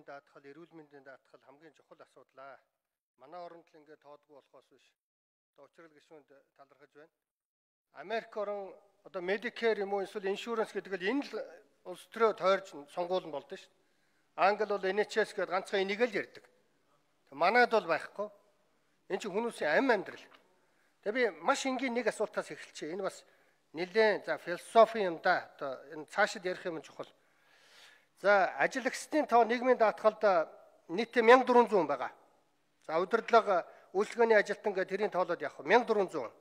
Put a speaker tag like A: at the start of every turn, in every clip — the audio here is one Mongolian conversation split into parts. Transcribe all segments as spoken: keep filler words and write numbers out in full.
A: нийгмийн даатгал, эрүүл мэндийн даатгал хамгийн чухал асуудал. Манай оронд л ингээд тоодгүй болохоос биш. Одоо учрал гишүүнд талархаж байна. Америк орон одоо Medicare юм уу эсвэл insurance гэдэг л энэ л улс төрөө тойрж сонгуул нь болдсон шүү дээ. Англи бол Эн Эйч Эс гэдэг ганцхан энийг л ярьдаг. Манайд бол байхгүй. Энэ чинь хүмүүсийн амь амьдрал. Тэгээ би маш энгийн нэг асуултаас эхэлчихье. Энэ бас нэлээд за философи юм да. Одоо энэ цаашид ярих юм чухал. За ажиллагчдын тоо нийгмийн даатгалд нийтдээ мянга дөрвөн зуун байгаа. За удирдлага үйлчлэгээний ажилтан гэдэг тэрийн тоолоод явах мянга дөрвөн зуун.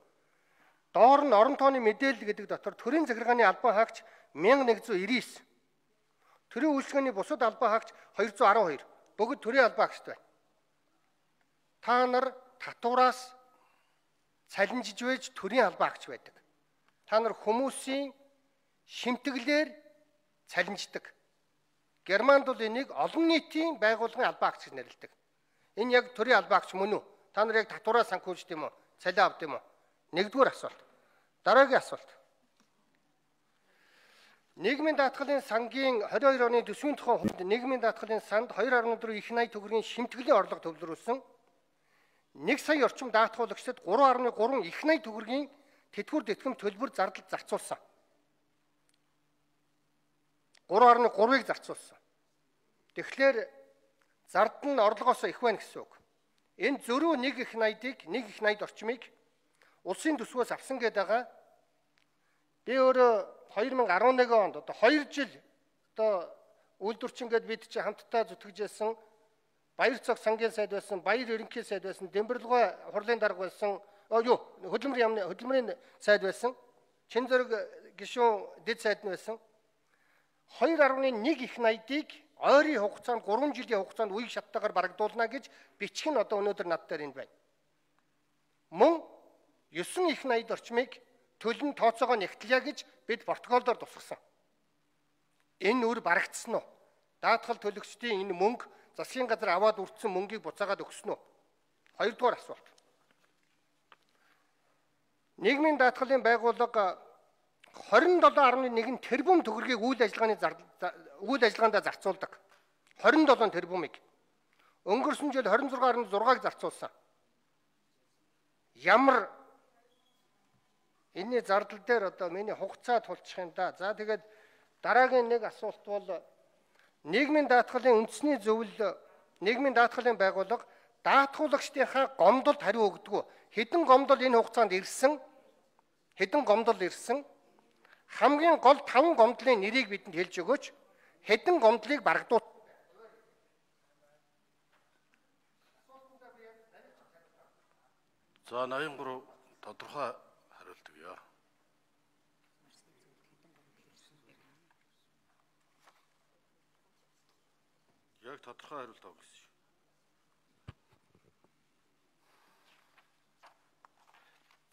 A: Доор нь орон тооны мэдээлэл гэдэг дотор төрийн захиргааны албан хаагч мянга нэг зуун ирээс. Төрийн үйлчлэгээний бусад албан хаагч хоёр зуун арван хоёр. Бүгд төрийн албан хаагчд байна. Та нар татвараас цалинжиж байж төрийн албан хаагч байдаг. Та нар хүмүүсийн шимтгэлээр цалинждаг. Германд бол энийг олон нийтийн байгууллагын албан хаагч гэж нэрлэдэг. Энэ яг төрийн албан хаагч мөн үү? Та нар яг татвараа санхүүжд юм уу? Цалин авд юм уу? Нэгдүгээр асуулт. Дараагийн асуулт. Нийгмийн даатгалын сангийн двадцать two оны төсвийн тухай хувьд нийгмийн даатгалын санд two point four их найд төгрөгийн шимтгэлийн орлого төвлөрүүлсэн нэг сая орчим даатгуулагчдад three point three их найд төгрөгийн тэтгэвэр тэтгэм төлбөр зардал зарцуулсан. three point three-ыг зарцуулсан. Тэгэхээр зард нь орлогоос их байна гэсэн үг. Энэ зөрүү нэг их найдыг, нэг их найд орчмыг улсын төсвөөс авсан гэдэг байгаа. Би өөрөө two thousand eleven онд одоо two жил одоо үйлдвэрчингээд бид чи хамтдаа зүтгэж байсан Баяр цог сангийн сайд байсан, Баяр ерөнхий сайд байсан, Дембэрлэгой хурлын дарга байсан, юу хөдөлмөрийн яамны хөдөлмөрийн сайд байсан, Чин зэрэг гишүүн дэд сайд нь байсан. two point one их найдыг ойрын хугацаанд three жилийн хугацаанд үеиг шаттайгаар барагдуулна гэж бичих нь одоо өнөөдөр над дээр энэ байна. Мөн nine их найд орчмыг төлн тооцоогоо нэгтлэе гэж бид протоколдоор тусгасан. Энэ үр барагдсан уу? Даатгал төлөгчдийн энэ мөнгө засгийн газар аваад үрдсэн мөнгийг буцаагаад өгсөн үү? Хоёрдугаар асуулт. Нийгмийн даатгалын байгууллага twenty-seven point one тэрбум төгрөгийг үйл ажиллагааны үйл ажиллагаанд зарцуулдаг. twenty-seven тэрбумыг. Өнгөрсөн жил twenty-six point six-ыг зарцуулсан. Ямар энэний зардал дээр одоо миний хугацаа тулчих юм да. За тэгээд дараагийн нэг асуулт бол нийгмийн даатгалын үндэсний зөвлөл нийгмийн даатгалын байгууллага даатгуулагчдынхаа гомдолд хариу өгдөг. Хэдэн гомдол энэ хугацаанд ирсэн? Хэдэн гомдол ирсэн? Хамгийн гол five гомдлын нэрийг бидэнд хэлж өгөөч. Хэдэн гомдлыг барагдуул.
B: За eighty-three тодорхой хариулт өгье. Яг тодорхой хариулт авах гэсэн.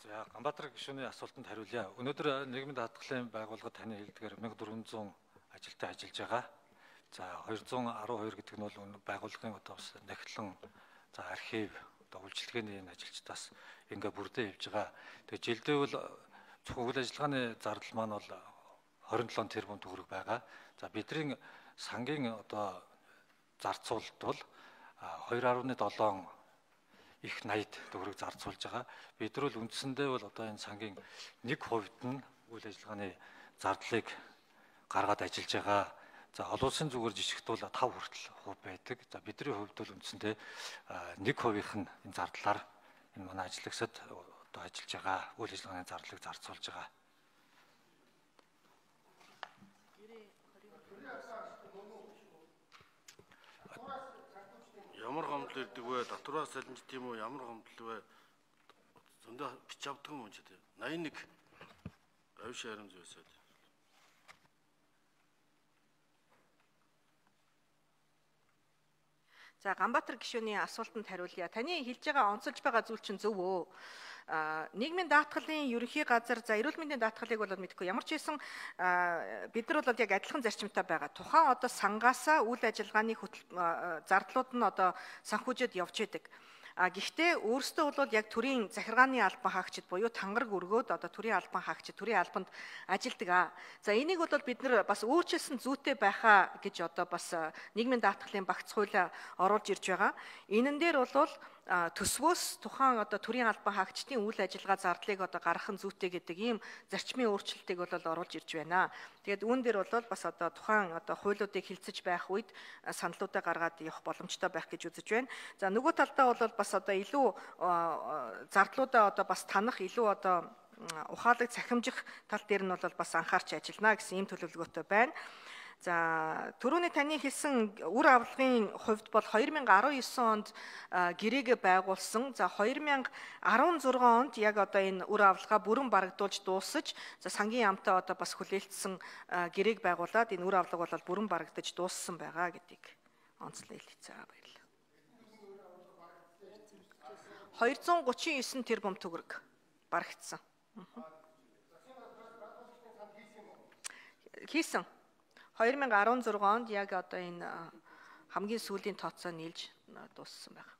C: За Ганбаатар гишүүний асуултанд хариулъя. Өнөөдөр нийгмийн даатгалын байгууллага таны хэлдгээр fourteen hundred ажилтан ажиллаж байгаа. За two hundred twelve гэдэг нь бол байгууллагын одоо бас нөхлөн за архив одоо үйлчилгээний энэ ажилчдаас ингээ бүрдээ явж байгаа. Тэгээ жилдээ бол зөвхөн үйл ажиллагааны зардал маань бол twenty-seven тэрбум төгрөг байгаа. За бидний сангийн одоо зарцуулалт бол two point seven их найд төгрөг зарцуулж байгаа. Бид нар бол үндсэндээ бол одоо энэ сангийн one percent нь үйл ажиллагааны зардлыг гаргаад ажиллаж байгаа. За олон улсын зүгээр жишгт бол five хүртэл хувь байдаг. За бидний хувьд бол үндсэндээ one percent-ийн энэ зардлаар энэ манай ажиллагчид одоо ажиллаж байгаа. Үйл ажиллагааны зардлыг зарцуулж байгаа.
B: Ямар гомдол ирдэг вэ? Татвараас салинжт юм уу? Ямар гомдол вэ? Зөндөө бич авдаг юм ч тийм. eighty-one авиш харин зөөсөө.
D: За Ганбаатар гишүүний асуултанд хариулъя. Таны хэлж байгаа онцолж байгаа зүйл чинь зөв үү? Нийгмийн даатгалын ерөнхий газар за эрүүл мэндийн даатгалыг бол мэдгүй. Ямар ч хэлсэн бид нар бол яг адилхан зарчимтай байгаа. Тухайн одоо сангаасаа үйл ажиллагааны зардлууд нь одоо санхүүжэд явж идэг. А гэхдээ өөрсдөө бол яг төрийн захиргааны албан хаагчид буюу тангараг өргөөд одоо төрийн албан хаагчид төрийн албанд ажилладаг аа. За энийг бол бид нар бас өөрчилсөн зүйтэй байхаа гэж одоо бас нийгмийн даатгалын багц хуулиа оруулж ирж байгаа. Энэ дээр бол төсвөөс тухайн одоо төрийн албан хаагчдын үйл ажиллагаа зардлыг одоо гаргах нь зүйтэй гэдэг ийм зарчмын өөрчлөлтийг бол оруулж ирж байна. Тэгээд үүн дээр бол бас одоо тухайн одоо хуулиудыг хилцэж байх үед саналуудаа гаргаад явах боломжтой байх гэж үзэж байна. За нөгөө талдаа бол бас одоо илүү зардлуудаа одоо бас танах илүү одоо ухаалаг цахимжих тал дээр нь бол бас анхаарч ажиллана гэсэн ийм төлөвлөгөөтэй байна. За түрүүний таны хэлсэн үр авлагын хувьд бол хоёр мянга арван девять онд гэрээгээ байгуулсан. За хоёр мянга арван зургаан онд яг одоо энэ үр авлагаа бүрэн барагдуулж дуусаж, за сангийн яамтай одоо бас хүлээлтсэн гэрээг байгуулад энэ үр авлага бол бүрэн барагдаж дууссан байгаа гэдгийг онцлог хэлцээ баярлалаа. хоёр зуун гучин девять тэрбум төгрөг барагдсан. Хийсэн. хоёр мянга арван зургаан онд яг одоо энэ хамгийн сүүлийн тооцоо нийлж дууссан байна.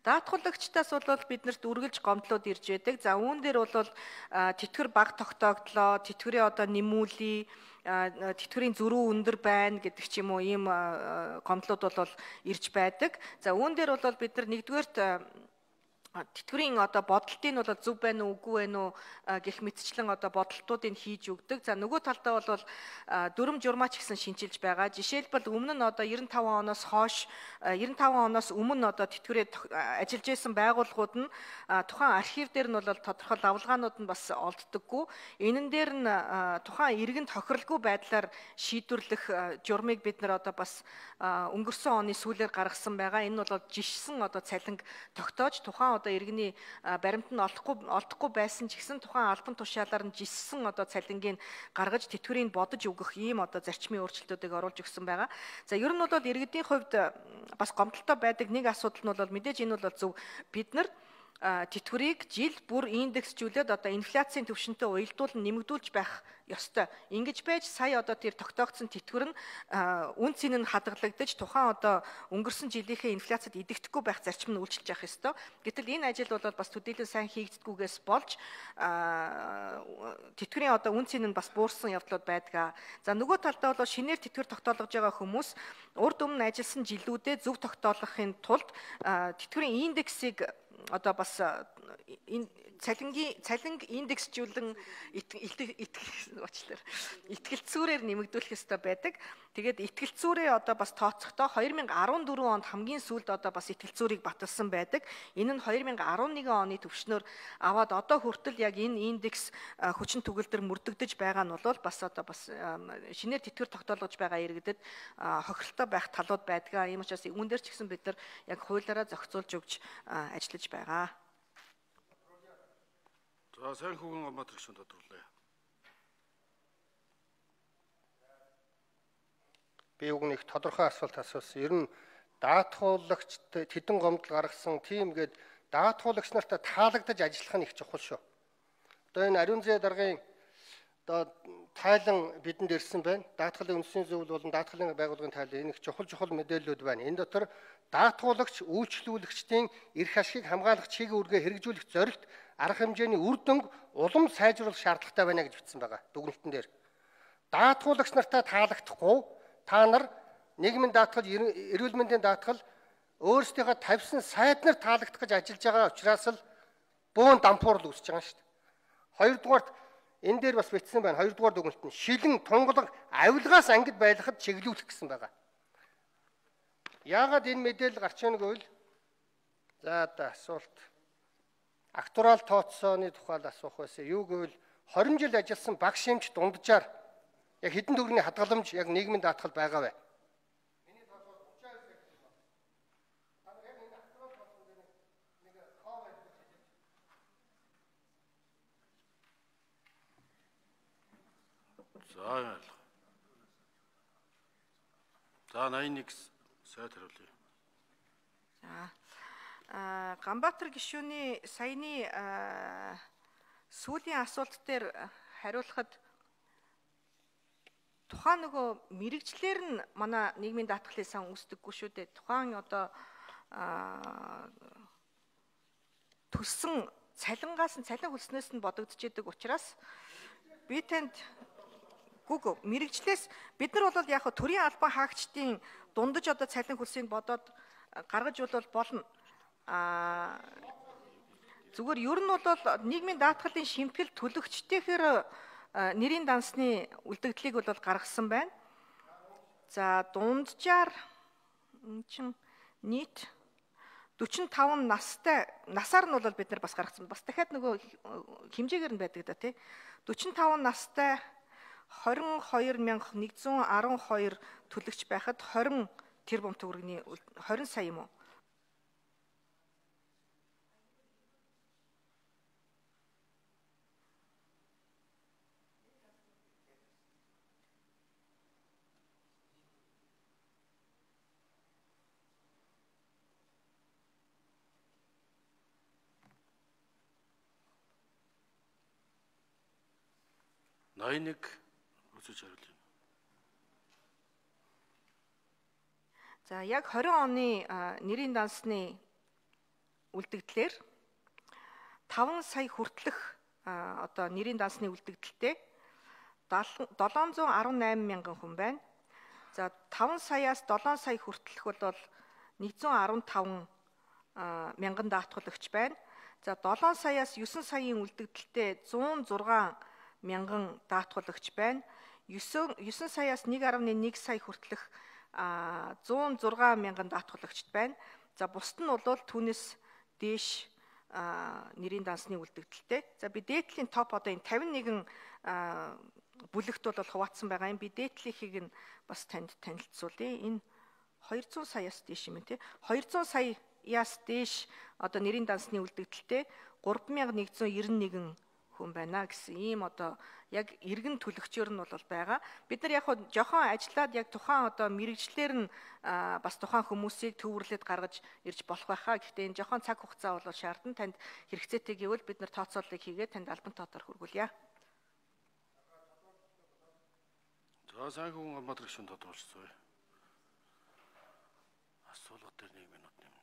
D: Даатгуулагчдаас бол биднэрт үргэлж гомдлууд ирж байдаг. За үүн дээр бол тэтгэр баг тогтоогдлоо, тэтгэрийн одоо нэмүүлээ, тэтгэрийн зөрүү өндөр байна гэдэг ч юм уу ийм гомдлууд бол ирж байдаг. За үүн дээр бол бид нар нэгдүгээрт тэтгэврийн одоо бодолтыг нь бол зөв байна уу үгүй байна уу гэх мэтчлэн одоо бодолтуудыг хийж өгдөг. За нөгөө талдаа бол дүрм журмаач гэсэн шинжилж байгаа. Жишээлбэл өмнө нь одоо девяносто таван оноос хойш девяносто таван оноос өмнө одоо тэтгэврээр ажиллаж байсан байгууллагууд нь тухайн архив дээр нь бол тодорхой лавлгаанууд нь бас олддоггүй. Энэн дээр нь тухайн иргэн тохиролгүй байдлаар шийдвэрлэх журмыг бид нар одоо бас өнгөрсөн оны сүүлээр гаргасан байгаа. Энэ нь бол жишсэн одоо цалинг тогтоож тухайн одоо иргэний баримт нь олохгүй олдохгүй байсан ч гэсэн тухайн албан тушаалаар нь жиссэн одоо цалингийн гаргаж тэтгэврийг бодож өгөх ийм одоо зарчмын өөрчлөлтүүдийг оруулж өгсөн байгаа. За ер нь бол иргэдийн хувьд бас гомдолтой байдаг нэг асуудал нь бол мэдээж энэ бол зөв бид нар тэтгэврийг жил бүр индексжүүлээд одоо инфляцийн түвшинтэй уялдуулан нэмэгдүүлж байх ёстой. Ингэж байж сая одоо тэр тогтоогдсон тэтгэвэр нь үн цэн нь хадгалагдаж тухайн одоо өнгөрсөн жилийнхээ инфляцид идэвхгүй байх зарчим нь үйлчилж явах ёстой. Гэтэл энэ ажил бол бас төдийлөн сайн хийгддэггүйгээс болж тэтгэврийн одоо үн цэн нь бас буурсан явдлууд байдаг. За нөгөө талдаа бол шинээр тэтгэвэр тогтоолгож байгаа хүмүүс урд өмнө ажилласан жилүүдэд зөв тогтоолгохын тулд тэтгэврийн индексийг одоо бас энэ цалингийн цалинг индексжүүлэн уучлаарай итгэлцүүрээр нэмэгдүүлэх ёстой байдаг. Тэгээд итгэлцүүрээ одоо бас тооцохдоо хоёр мянга арван дөрвөн онд хамгийн сүүлд одоо бас итгэлцүүрийг баталсан байдаг. Энэ нь хоёр мянга арван нэгэн оны түвшнөөр аваад одоо хүртэл яг энэ индекс хүчин төгөлдөр мөрдөгдөж байгаа нь бол бас одоо бас шинээр тэтгэвэр тогтоолгож байгаа иргэдэд хохиролтой байх талууд байдаг. Ийм учраас үүн дээр ч гэсэн бид нар яг хуулиараа зохицуулж өгч ажиллаж байгаа.
B: За сайн хүүгэн Ганбаатар гишүүн тодруулъя.
A: Би үгнийг тодорхой асуулт асуусан. Ер нь даатгуулагчд тэдэн гомдол гаргасан тийм гээд даатгуулагч нартай таалагдаж ажиллах нь их чухал шүү. Одоо энэ ариун зээ даргын одоо тайлан бидэнд ирсэн байна. Даатгалын үндсийн зөвлөл болон даатгалын байгууллагын тайлан энэ их чухал чухал мэдээллүүд байна. Энэ дотор даатгуулагч үйлчлүүлэгчдийн эрх ашигыг хамгаалах чиг үүргээ хэрэгжүүлэх зорилт арга хэмжээний үр дүнг улам сайжруулах шаардлагатай байна гэж бичсэн байгаа дүгнэлтэн дээр. Даатгуулагч нартай таалагдахгүй та нар нийгмийн даатгал, эрүүл мэндийн даатгал өөрсдийнхөө тавьсан сайднаар таалагдах гэж ажиллаж байгаа учраас л бөөн дампуурл үүсэж байгаа шүү дээ. Хоёрдугаарт энэ дээр бас бичсэн байна. Хоёрдугаар дүгнэлт нь шилэн тунгалаг авилгаас ангид байлгахад чиглүүлэх гэсэн байгаа. Яагаад энэ мэдээлэл гарч ийнэг вэ? За одоо асуулт. Актуал тооцооны тухайд асуух байсан. Юу гэвэл хорин жил ажилласан багш эмч дунджаар яг хэдэн төгрөгийн хадгаламж яг нийгмийн даатгал байгаа вэ? Миний тооцоо тридцать сая гэх юм. Та яг энэ актуал тооцоо дээр нэг хоо байдаг.
B: За. За восемьдесят один сайд хариулъя.
D: За. А Ганбаатар гишүүний саяны сүүлийн асуулт дээр хариулахад тухайн нөгөө мэрэгчлэр нь манай нийгмийн даатгалын сан үүсдэггүй шүү дээ. Тухайн одоо төссөн цалингаас нь цалин хөлснөөс нь бодогдож идэг учраас би танд гүг мэрэгчлээс бид нар бол яг төрийн албан хаагчдын дундаж одоо цалин хөлсийг бодоод гаргаж бол болно. А зүгээр ер нь бол нийгмийн даатгалын шимтгэл төлөгчтэйхээр нэрийн дансны үлдэгдлийг бол гаргасан байна. За дунджаар эн чин нийт дөрвөн таван настай насаар нь бол бид нар бас гаргасан. Бас дахиад нөгөө хэмжээгээр нь байдаг да тий. дөрвөн таван настай хорин хоёр мянга нэгдүгээр арван хоёр төлөгч байхад хорин тэрбум төгрөгийн хорин сая юм уу?
B: найман нэг үсэж хариулъя.
D: За яг двадцать оны нэрийн дансны үлдэгдлэр таван сая хүртэлх одоо нэрийн дансны үлдэгдэлтэй долоон зуун арван найман мянган хүн байна. За таван саяас долоон сая хүртэлх бол нэг зуун арван таван мянган даатгалагч байна. За долоон саяас девять саяын үлдэгдэлтэй зуун зургаан мянган даатгалагч байна. девять саяас нэг гаруй нэг сая хүртэлх зуун зургаан мянган даатгалагчд байна. За бусд нь бол түүнээс дээш нэрийн дансны үлдэгдэлтэй. За би дээдлийн топ одоо энэ тавин нэгэн бүлэгт бол хуваацсан байгаа юм. Би дээдлийнхийг нь бас танд танилцуулъя. Энэ двести саяас дээш юм тий. двести саяас дээш одоо нэрийн дансны үлдэгдэлтэй три мянган нэгдүгээр девяносто нэгэн хүн байна гэсэн ийм одоо яг иргэн төлөгчөөр нь бол байгаа. Бид нар яг хоо жохон ажиллаад яг тухайн одоо мэрэгчлэр нь бас тухайн хүмүүсийг төвөрлөд гаргаж ирж болох байхаа. Гэхдээ энэ жохон цаг хугацаа бол шаардна. Танд хэрэгцээтэй гэвэл бид нар тооцооллыг хийгээд танд албан тоотоор хүргүүлье.
B: За сайн хүн Ганбаатар гишүүн тодорхойлцгоё. Асуулга дээр нэг минут юм.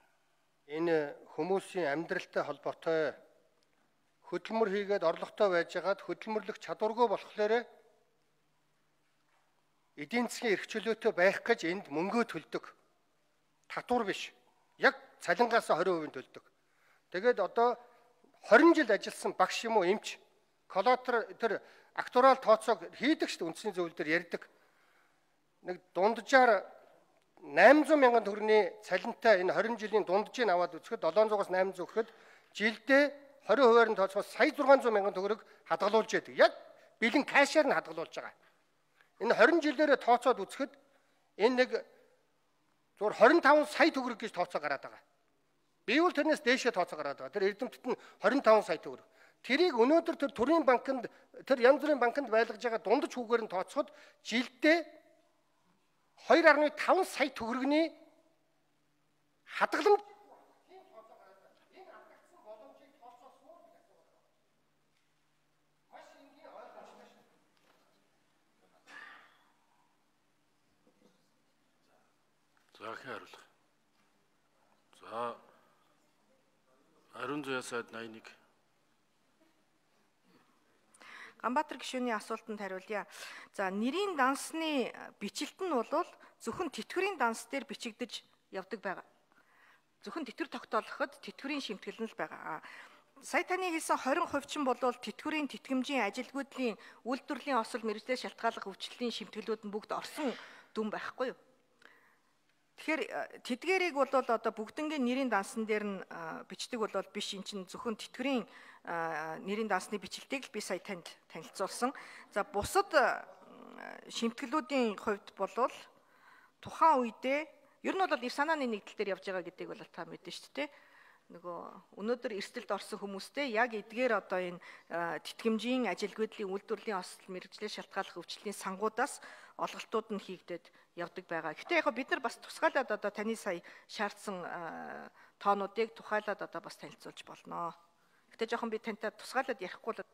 A: Энэ хүмүүсийн амьдралтай холбоотой хөдөлмөр хийгээд орлоготой байжгаад хөдөлмөрлөх чадваргүй болохоор эдийн засгийн эрх чөлөөтэй байх гэж энд мөнгөө төлдөг. Татвар биш. Яг цалингаас двадцать хувь төлдөг. Тэгээд одоо двадцать жил ажилласан багш юм уу эмч коллатер тэр актуарал тооцоог хийдэг шүү дээ үндсний зөвлөл дээр ярьдаг. Нэг дунджаар восемь сая мянган төгрөгийн цалинтай энэ двадцать жилийн дунджийг аваад үзэхэд долоон зугаас восемь сая өгөхөд жилдээ двадцать хувиар нь тооцоход сая зургаан зуун мянган төгрөг хадгалуулж яадаг. Яг бэлэн кашаар нь хадгалуулж байгаа. Энэ двадцать жилээрээ тооцоод үзэхэд энэ нэг зур двадцать таван сая төгрөг гэж тооцоо гараад байгаа. Би бол тэрнээс дээшээ тооцоо гараад байгаа. Тэр эрдэмтэд нь двадцать таван сая төгрөг. Тэрийг өнөөдөр тэр төрийн банкнд тэр янз бүрийн банкнд байлгаж байгаа дундаж хүүгээр нь тооцоход жилдээ two point five сая төгрөгийн хадгаламж
B: За хариулах. За Ариун зуяа сайд найман нэг.
D: Ганбаатар гишүүний асуултанд хариулъя. За нэрийн дансны бичлэлт нь бол зөвхөн тэтгэврийн данс дээр бичигдэж явдаг байгаа. Зөвхөн тэтгэвэр тогтоолоход тэтгэврийн шимтгэл нь л байгаа. Сая таны хэлсэн двадцать хувь чинь бол тэтгэврийн тэтгэмжийн ажилгүйдлийн үйлдвэрлэлийн осол мэргэжлээс шалтгааллах өвчлөлийн шимтгэлүүд нь бүгд орсон дүн байхгүй юу? Тэгэхээр тэдгээрийг бол одоо бүгднгийн нэрийн дансан дээр нь бичдэг бол биш, эн чинь зөвхөн тэтгэврийн нэрийн дансны бичлэлтийг л би сая танд танилцуулсан. За бусад шимтгэлүүдийн хувьд бол тухайн үедээ ер нь бол ив санааны нэгдэл дээр явж байгаа гэдгийг бол та мэднэ шүү дээ. Нөгөө өнөөдөр эрсдэлд орсон хүмүүстэй яг эдгээр одоо энэ тэтгэмжийн ажилгүйдлийн үйлдвэрлэлийн осол мэргэжлээс шалтгааллах өвчлөлийн сангуудаас олголтууд нь хийгдээд явдаг байгаа. Гэхдээ яг бид нар бас тусгайлаад одоо таны сая шаардсан тоонуудыг тухайлаад одоо бас танилцуулж болно. Гэтэ жоохон би тантай тусгайлаад ярихгүй л